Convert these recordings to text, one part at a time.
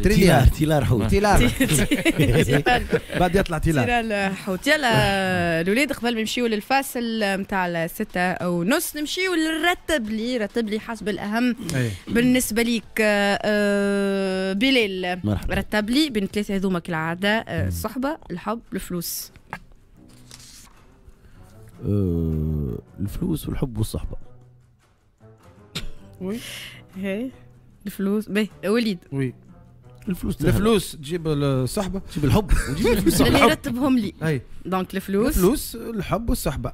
تريليار تيلار حوت تيلار بعد يطلع تيلار تيلار حوت. يلا الولاد قبل ما نمشيو للفاصل نتاع 6:30 نمشيو للرتب لي، رتب لي حسب الاهم بالنسبة ليك. بلال مرحبا. رتب لي بين ثلاثة هذوما كالعادة، الصحبة، الحب، الفلوس. الفلوس والحب والصحبه. oui هي الفلوس. باهي وليد. oui الفلوس، الفلوس تجيب الصحبة، تجيب الحب وتجيب الفلوس. اللي رتبهم لي. اي donc الفلوس، الفلوس، الحب والصحبه.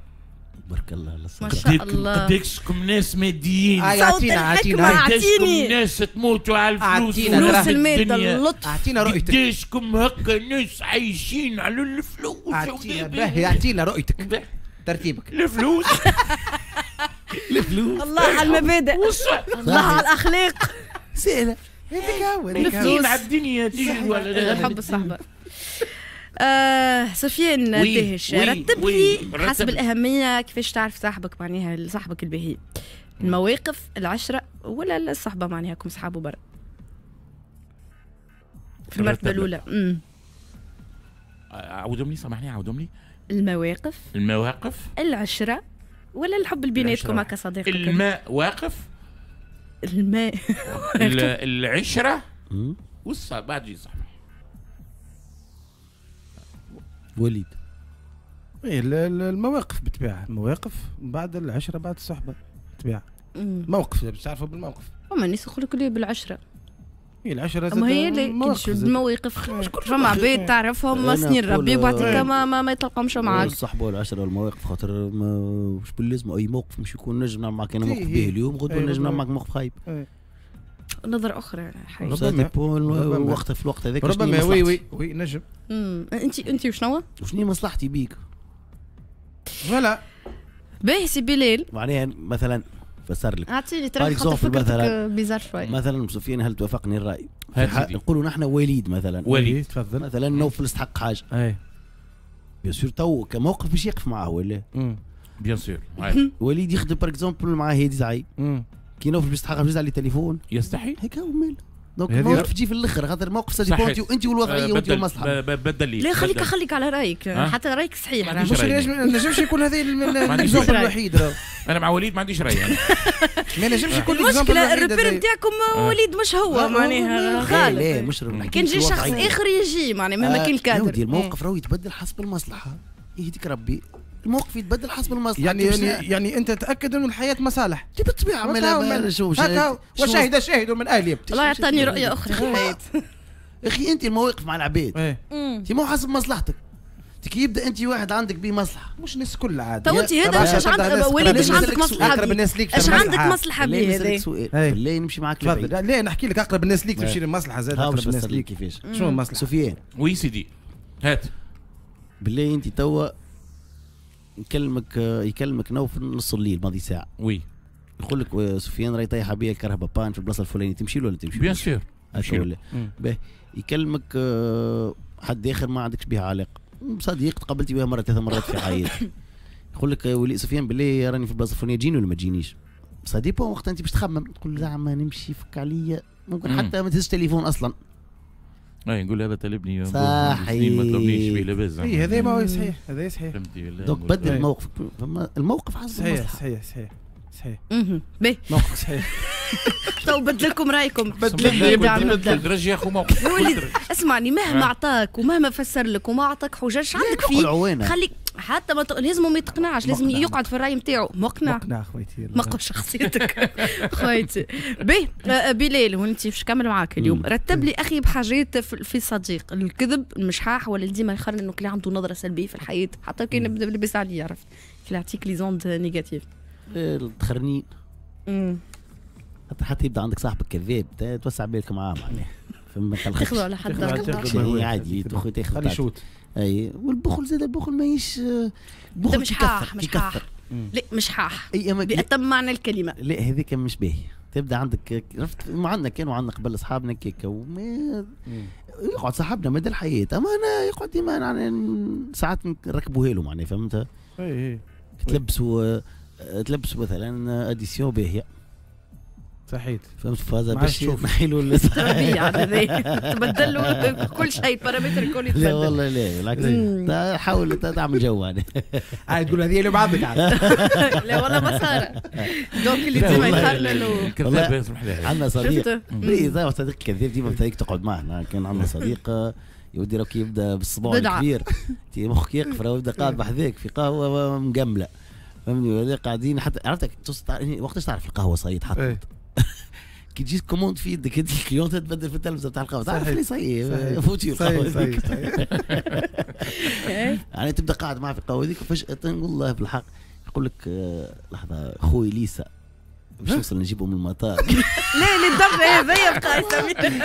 بارك الله على ما شاء الله. قداكشكم ناس ماديين، صوت الحكمة. قداشكم اعطيني ناس تموتوا على الفلوس، أعطينا فلوس المادة، اللطف. اعطينا رؤيتك. قداشكم هكا ناس عايشين على الفلوس. اعطينا باهي، اعطينا رؤيتك، ترتيبك. الفلوس، الفلوس. الله على المبادئ، الله على الاخلاق. سهلة. هذيك هو هذيك هو. الفلوس على الدنيا تجري ولا الحب، الصحبة. سفيان دهش، رتب لي حسب الأهمية كيفاش تعرف صاحبك، معناها صاحبك الباهي، المواقف، العشرة، ولا الصحبة، معناها كم صحابه برا في المرتبة الأولى. عاودهم لي، سامحني، عاودهم لي. المواقف، المواقف، العشرة، ولا الحب اللي بيناتكم هكا صديقك. الماء واقف. الماء. العشرة والصحبة بعد يجي صاحبي. وليد. ايه المواقف بالطبيعة، المواقف بعد العشرة بعد الصحبة بالطبيعة. موقف باش تعرفوا بالموقف. فما الناس يقول لك بالعشرة. هي العشرة اما هي المواقف، فما عباد تعرفهم سنين ربي وبعديك ما يتلقاهمش معاك. الصحبة والعشرة والمواقف، خاطر مش باللازم اي موقف مش يكون نجم نعمل معك انا موقف باهي اليوم، غدوه نجم نعمل معك موقف خايب. نظرة أخرى. ربما وقت في الوقت هذاك. ربما oui oui oui نجم. أنت وشنو؟ وشنو مصلحتي بيك؟ voilà. باهي سي بلال. معناها مثلا فسر لك. أعطيني ترى خاطر فكرتك bizarre شوي. مثلا سفيان، هل توافقني الرأي؟ نقولوا نحن وليد مثلا. وليد تفضل. مثلا نوفل استحق حاجة. اي bien sûr تو كموقف باش يقف معاه ولا؟ bien sûr. وليد يخدم par exemple مع هادي زعيم. كي نوفل باش يستحق باش على التليفون. يستحي. هيك هو مال. donc الموقف تجي في الاخر، خاطر الموقف ça dépend انت والوضعيه وانت والمصلحة. بدل لي. لا خليك خليك على رايك، حتى رايك صحيح. مش نجمش يكون هذا ال exemple الوحيد. انا مع وليد ما عنديش راي. ما نجمش يكون المشكلة ال repère نتاعكم وليد مش هو، معناها غالط. لا مش كان جي شخص اخر يجي معناها مهما كان الكادر. الموقف راهو يتبدل حسب المصلحة، يهديك ربي. الموقف يتبدل حسب المصلحة. يعني انت تاكد انه الحياة مصالح. بالطبيعة. وشاهد شاهد من اهله. الله يعطيني رؤية اخرى في الحياة. اخي انت المواقف مع العباد انت مو حسب مصلحتك. كي يبدا انت واحد عندك به مصلحة، مش الناس الكل عاد. تو انت هذا اش عندك وليد، اش عندك مصلحة؟ اقرب الناس ليك اش عندك مصلحة به هذا؟ سؤال بالله نمشي معاك لبعيد. لا نحكي لك اقرب الناس ليك تمشي للمصلحة زاد. اقرب الناس ليك كيفاش؟ شنو المصلحة؟ سفيان. oui سيدي هات. بالله انت توا يكلمك نوفل نص الليل ماضي ساعة. oui. يقول لك سفيان راهي طايحة بيا الكرهبه panne في البلاصة الفلانية، تمشي له ولا تمشي؟ bien sûr. ولا باهي يكلمك حد اخر ما عندكش بها علاقة، صديق تقابلتي بها مرة ثلاث مرات في حياتك، يقول لك ولي سفيان بالله راني في البلاصة الفلانية، تجيني ولا ما تجينيش؟ ça dépend وقت انت باش تخمم تقول زعما نمشي فك عليا، ممكن حتى ما تهزش تليفون اصلا. اي نقول هذا طالبني صحيح ما طلبنيش به لاباس. اي هذا ما هو صحيح، هذا صحيح. donc بدل الموقف، الموقف حسب صحيح صحيح صحيح صحيح. باهي موقف صحيح. تو بدل لكم رايكم. بدل درج يا اخو موقف. اسمعني، مهما اعطاك ومهما فسر لك وما اعطاك حجج عندك فيه، خليك حتى ما لازم ما يتقنعش، لازم يقعد في الراي نتاعو. مقنع مقنع خويتي، مقنع شخصيتك خويتي. باهي بلال، وانت باش نكمل معاك اليوم، رتب لي اخي بحاجات في صديق، الكذب، المشحاح، ولا ديما يخلي انه كلي عنده نظره سلبية في الحياة حتى كان نبدا لاباس عليه، عرفت كي يعطيك les ondes négatives. التخرنين. حتى يبدا عندك صاحبك كذاب توسع بالك معاه معناها، فما تاخذوا على حد عادي تاخذ خلي شوت. اي والبخل زاد، البخل ماهيش بخل مشحاح، مشحاح. لا مشحاح بأتم معنى الكلمة. لا هذيك مش باهي، تبدا عندك عرفت عندنا كانوا عندنا قبل اصحابنا كيكا وما يقعد صاحبنا مدى الحياة، اما انا يقعد ديما يعني ساعات نركبوها له معناها، فهمت؟ اي تلبسوا مثلا addition باهيه. صحيت فهمت فازا باش نحيلوا الطبيعة تبدل له كل شيء paramètres الكل يتبدل. لا والله لا بالعكس حاول تعمل جو يعني. عاد تقول هذه اللي بعضك عاد. لا والله ما صار donc اللي ديما يخرنن. كذاب يسمح لي. عندنا صديق صديق كذاب ديما بتلاقيك تقعد معنا. كان عندنا صديق يودي راك يبدا بالصباع الكبير مخك يقف راهو يبدا قاعد بحذاك في قهوة مقمله فهمني ولا قاعدين حتى عرفتك وقتاش تعرف القهوة صايد حطت كي تجي commande في يدك انت client تبدل في التلفزة بتاع القهوة تعرف اللي صاي فوتي القهوة يعني تبدا قاعد معاه في القهوة هذيك وفجاة والله بالحق يقول لك لحظة خوي ليسا باش نوصل نجيبه من المطار. لا لا الدرجة هذيا بقى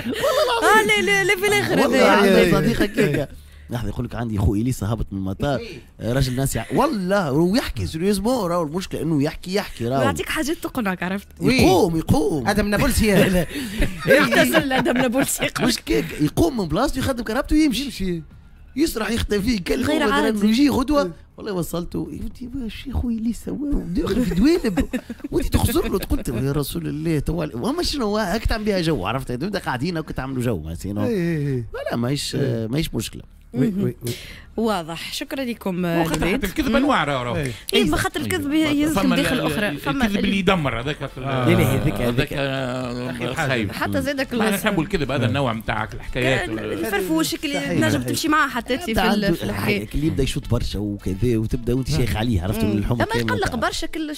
والله العظيم. لا لا في الاخر هذايا عندي صديق هكاك لحظة يقول لك عندي خو اليسا هبط من المطار راجل ناسي والله ويحكي sérieusement راهو المشكلة انه يحكي راهو يعطيك حاجات تقنعك عرفت. يقوم ادم نابلسي يغتسل ادم نابلسي مش كيك يقوم من بلاصته يخدم كرهبته ويمشي يسرح يختفي يكلم يجي غدوه والله وصلته يا ودي واش يا خويا اللي سواه داخل في دوالب وانت تخزر له تقول يا رسول الله تو وما شنو هاك تعمل بها جو عرفت تبدا قاعدين هاك تعملوا جو sinon لا ماهيش مشكلة. oui oui oui واضح. شكرا لكم. حتى الكذب انواع راهو. اي خاطر الكذب يهزك داخل اخرى. فما الكذب اللي يدمر هذاك لا هذاك خايب حتى زادك. احنا نحبوا الكذب هذا النوع نتاع الحكايات الفرفوش اللي تنجم تمشي معاه حتى في الحكاية اللي يبدا يشوط برشا وكذا وتبدا وانت شيخ عليه عرفت الحمى اما يقلق برشا كل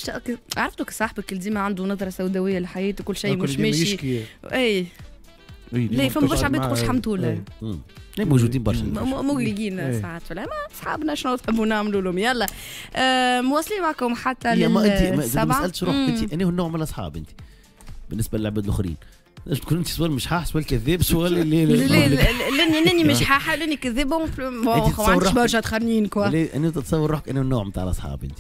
عرفتوا صاحبك اللي ديما عنده نظره سوداوية للحياة وكل شيء مش ماشي. اي لا فما برشا عباد تقولش الحمد لله. لا موجودين برشا مقلقين ساعات ولا ما اصحابنا شنو تحبوا نعملوا لهم. يلا مواصلين معكم حتى للسبعة. ما سالتش روحك انت اني هو النوع من الاصحاب انت بالنسبة للعباد الاخرين؟ لازم تكون انت سواء مشحاح سواء كذاب سواء اللي لاني مشحاحه لاني كذابه ما عنديش برشا تخرنين quoi. انت تتصور روحك انه النوع نتاع الاصحاب انت؟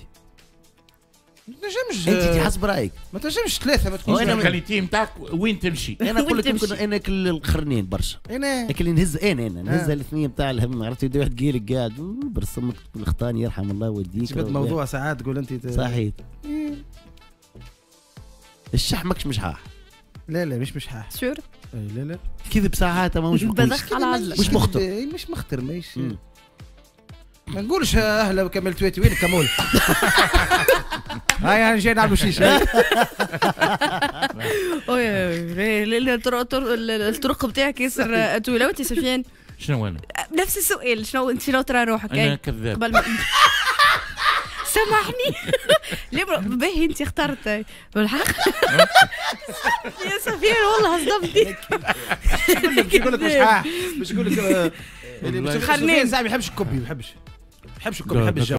ما تنجمش انت حسب رايك ما تنجمش ثلاثة ما تكونش ال qualité نتاعك وين تمشي. انا نقول لك يمكن انا كل الخرنين برشا انا اللي نهز انا نهز الاثنين نتاع الهم عرفت. يبدا واحد قيلك قاعد برسمك الخطاني يرحم الله والديك. جبت موضوع ساعات تقول انت صحيح الشح ماكش مشحاح. لا لا مش مشحاح sûr. لا لا كذب ساعات ما مش مش مخطر مش مخطر ماهيش ما نقولش اهلا وكمل تويتي وين كمول هاي انا جاي نعملوا شيشة. الطرق بتاعك ياسر طويلة. وانت سفيان شنو انا؟ نفس السؤال شنو انت شنو ترى روحك؟ انا كذاب قبل ما سامحني ليه باهي انت اخترت بالحق يا سفيان والله صدمتني. باش نقول لك مش باش نقول لك خليني ما يحبش الكوبي ما يحبش الكوبي يحب الجو.